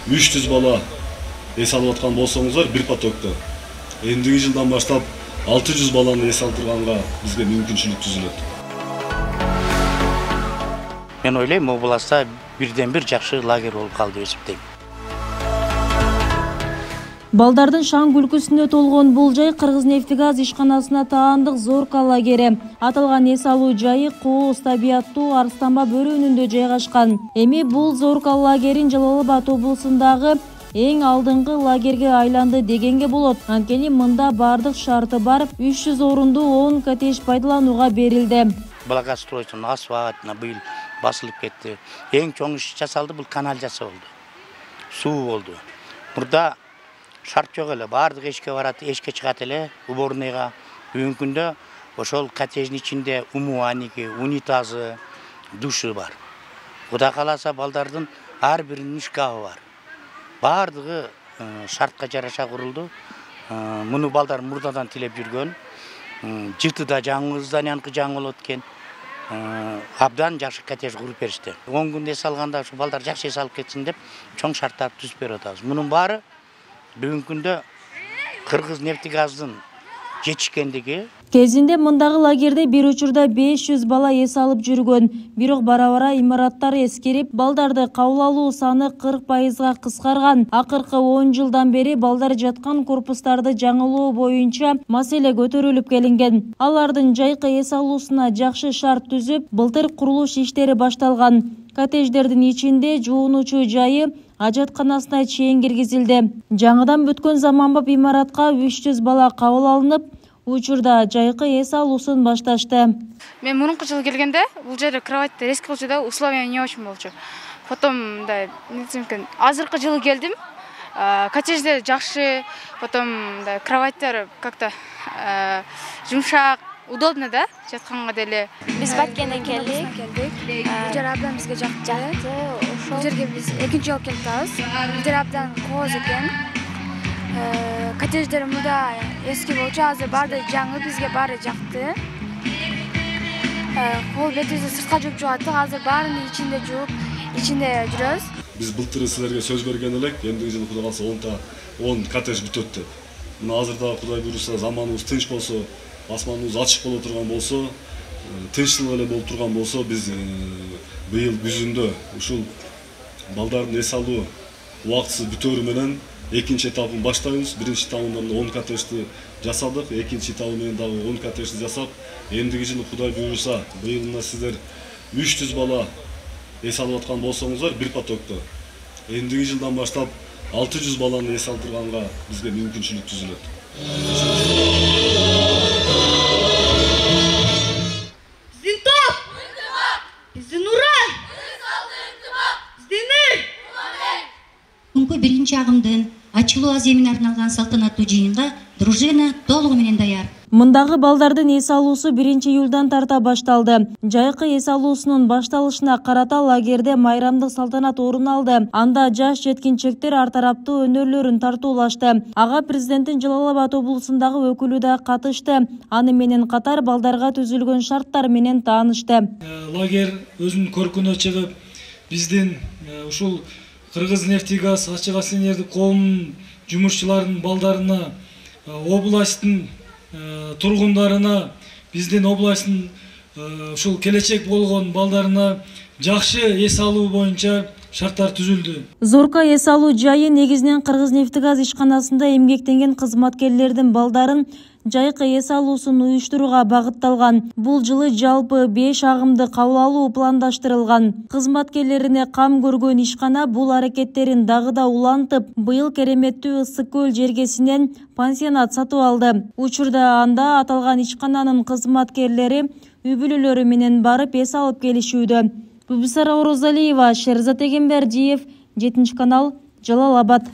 300 бала эс алып аткан болсоңуздар бир потокто. Эндиги жылдан баштап 600 баланы эс алдырганга бизге мүмкүнчүлүк түзүлөт. Мен ойлойм, областта бирден бир жакшы лагерь болуп калды деп эсептейм. Балдардын шаң күлкүсүнө толгон бул жай Кыргызнефтегаз ишканасына таандык Зорка лагери. Аталган эс алуу жайы кооз табияттуу Арстанба бөрүнүндө жайгашкан. Эми бул Зорка лагерин Жалал Абад облусундагы эң алдыңкы лагерге айланды дегенге болот. Анткени мында бардык шарты бар 300 орундуу 10 коттедж пайдаланууга берилди. Благоустройство асфальтына быйыл басылып кетти. Эң чоң иш жасалды, бул канализация болду. Суу болду. Мурда шарт жок эле, бардык эшикке барат, эшикке чыгат эле, уборныйга. Бүгүнкү күндө ошол коттедждин ичинде умывальники, унитазы, душы бар. Кудай кааласа балдардын ар биринин шкафы бар. Бардыгы шартка жараша курулду. Муну балдар мурдадан тилеп жүргөн. Жытыда жаңы зданияныкы жаңы болот экен. Абдан жакшы коттедж куруп беришти. 10 күн эс алганда ушу балдар жакшы эс алып кетсин деп чоң шарттарды түзүп берип атабыз. Мунун баары бүгүнкү күндө Кыргызнефтегаздын жетишкендиги. Кезинде мындагы лагерде бир учурда 500 бала эс алып жүргөн. Бирок бара-бара имараттар эскирип, балдарды кабыл алуу саны 40%га кыскарган. Акыркы 10 жылдан бери балдар жаткан корпустарды жаңылоо боюнча маселе көтөрүлүп келинген. Алардын жайкы эс алуусуна жакшы шарт түзүп, былтыр курулуш иштери башталган. Коттедждердин ичинде жуунуучу жайы ажатканасына чейин киргизилди. Жаңыдан бүткөн заманбап имаратка 300 бала кабыл алынып, учурда жайкы эс алуусун башташты. Мен мурунку жылы келгенде бул жерде кроваттар эски болчу да, условия не очень болчу. Потом азыркы жылы келдим. Коттедждер жакшы, потом кроваттар как-то жумшак, удобно да, жатканга деле. Биз Баткенден келдик. Бул жер абдан бизге жакты. Бул жерге биз экинчи жолу келип атабыз. Бул жер абдан кооз экен. Коттедждер мында эски болчу, азыр баары жаңы, бизге баары жакты. Кол бетибизди сыртка жууп жуаттык, азыр баарынын ичинде жууп, ичинде жүрөбүз. Биз былтыр силерге сөз берген элек, эндиги жылы Кудай кааласа 10 коттедж бүтөт деп. Мына азырда Кудай буйруса заманыбыз тынч болсо, асманыбыз ачык боло турган болсо, тынчтык эле болуп турган болсо, биз быйыл күзүндө ушул балдардын эс алуу убактысы бүтөөрү менен экинчи этабын баштайбыз. Биринчи этабында 10 коттеджди жасадык, экинчи этабы менен дагы 10 коттеджди жасап, эндиги жылы Кудай буйруса, быйыл мына сиздер 300 бала эс алып аткан болсоңуздар бир потокто. Эндиги жылдан баштап 600 баланы эс алдырганга бизге мүмкүнчүлүк түзүлөт. Биздин топ! Биздин уран! Биздин эл! Бүгүнкү биринчи агымдын ачылуу аземине арналган салтанаттуу жыйынга дружина толугу менен даяр. Мындагы балдардын эс алуусу 1-июлдан тарта башталды. Жайкы эс алуусунун башталышына карата лагерде майрамдык салтанат орун алды. Анда жаш жеткинчектер ар тараптуу өнөрлөрүн тартуулашты. Ага президенттин Жалал Абад облусундагы өкүлү да катышты. Аны менен катар балдарга түзүлгөн шарттар менен таанышты. Лагерь өзүнүн көркүнө чыгып, биздин ушул Кыргызнефтегаз ачык акционердик коомунун жумушчуларынын балдарына, областтын тургундарына, биздин областтын ушул келечек болгон балдарына жакшы эс алуу боюнча шарттар түзүлдү. Зорка эс алуу жайы негизинен Кыргызнефтегаз ишканасында эмгектенген кызматкерлердин балдарын жайкы эс алуусун уюштурууга багытталган. Бул жылы жалпы 5 агымды кабыл алуу пландаштырылган. Кызматкерлерине кам көргөн ишкана бул аракеттерин дагы да улантып, быйыл кереметтүү Ысык көл жергесинен пансионат сатып алды. Учурда анда аталган ишкананын кызматкерлери үй-бүлөлөрү менен барып эс алып келишүүдө. Бубисара Орозалиева, Шерзат Эгембердиев, 7 канал, Жалал Абад.